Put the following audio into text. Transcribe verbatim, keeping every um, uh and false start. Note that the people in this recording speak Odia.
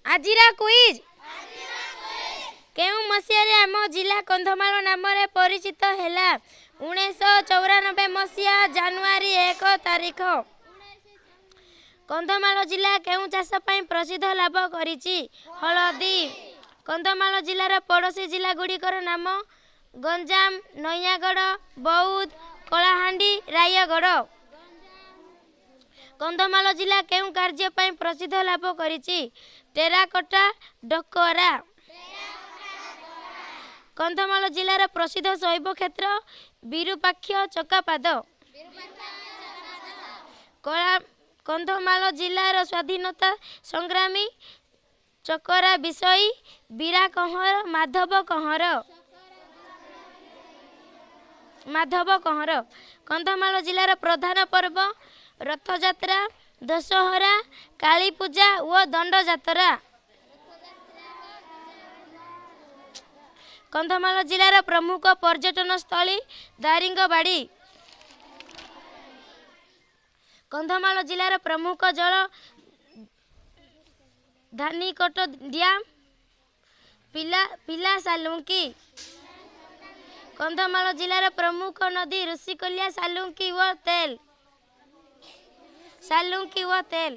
ଆଜିର କୁଇଜ୍, କେଉଁ ମସିହାରେ ଆମ ଜିଲ୍ଲା କନ୍ଧମାଳ ନାମରେ ପରିଚିତ ହେଲା? ଉଣେଇଶହ ଚଉରାନବେ ମସିହା ଜାନୁଆରୀ ଏକ ତାରିଖ। କନ୍ଧମାଳ ଜିଲ୍ଲା କେଉଁ ଚାଷ ପାଇଁ ପ୍ରସିଦ୍ଧ ଲାଭ କରିଛି? ହଳଦୀ। କନ୍ଧମାଳ ଜିଲ୍ଲାର ପଡ଼ୋଶୀ ଜିଲ୍ଲାଗୁଡ଼ିକର ନାମ? ଗଞ୍ଜାମ, ନୟାଗଡ଼, ବୌଦ୍ଧ, କଳାହାଣ୍ଡି, ରାୟଗଡ଼। କନ୍ଧମାଳ ଜିଲ୍ଲା କେଉଁ କାର୍ଯ୍ୟ ପାଇଁ ପ୍ରସିଦ୍ଧ ଲାଭ କରିଛି? ଟେରାକୋଟା ଡକରା। କନ୍ଧମାଳ ଜିଲ୍ଲାର ପ୍ରସିଦ୍ଧ ଶୈବ କ୍ଷେତ୍ର? ବିରୁପାକ୍ଷ ଚକାପାଦ। କଳା କନ୍ଧମାଳ ଜିଲ୍ଲାର ସ୍ୱାଧୀନତା ସଂଗ୍ରାମୀ? ଚକରା ବିଷୋୟୀ, ବୀରା କହଁର, ମାଧବ କହଁର। ମାଧବ କହଁର। କନ୍ଧମାଳ ଜିଲ୍ଲାର ପ୍ରଧାନ ପର୍ବ? ରଥଯାତ୍ରା, ଦଶହରା, କାଳୀପୂଜା ଓ ଦଣ୍ଡଯାତ୍ରା। କନ୍ଧମାଳ ଜିଲ୍ଲାର ପ୍ରମୁଖ ପର୍ଯ୍ୟଟନ ସ୍ଥଳୀ? ଦାରିଙ୍ଗବାଡ଼ି। କନ୍ଧମାଳ ଜିଲ୍ଲାର ପ୍ରମୁଖ ଜଳ? ଧାନିକଟ ଡ୍ୟାମ୍, ପିଲା ପିଲା ସାଲୁଙ୍କି। କନ୍ଧମାଳ ଜିଲ୍ଲାର ପ୍ରମୁଖ ନଦୀ? ଋଷିକୁଲ୍ୟା, ସାଲୁଙ୍କି ଓ ତେଲ। ସାଲୁଙ୍କି ଓ ତେଲ।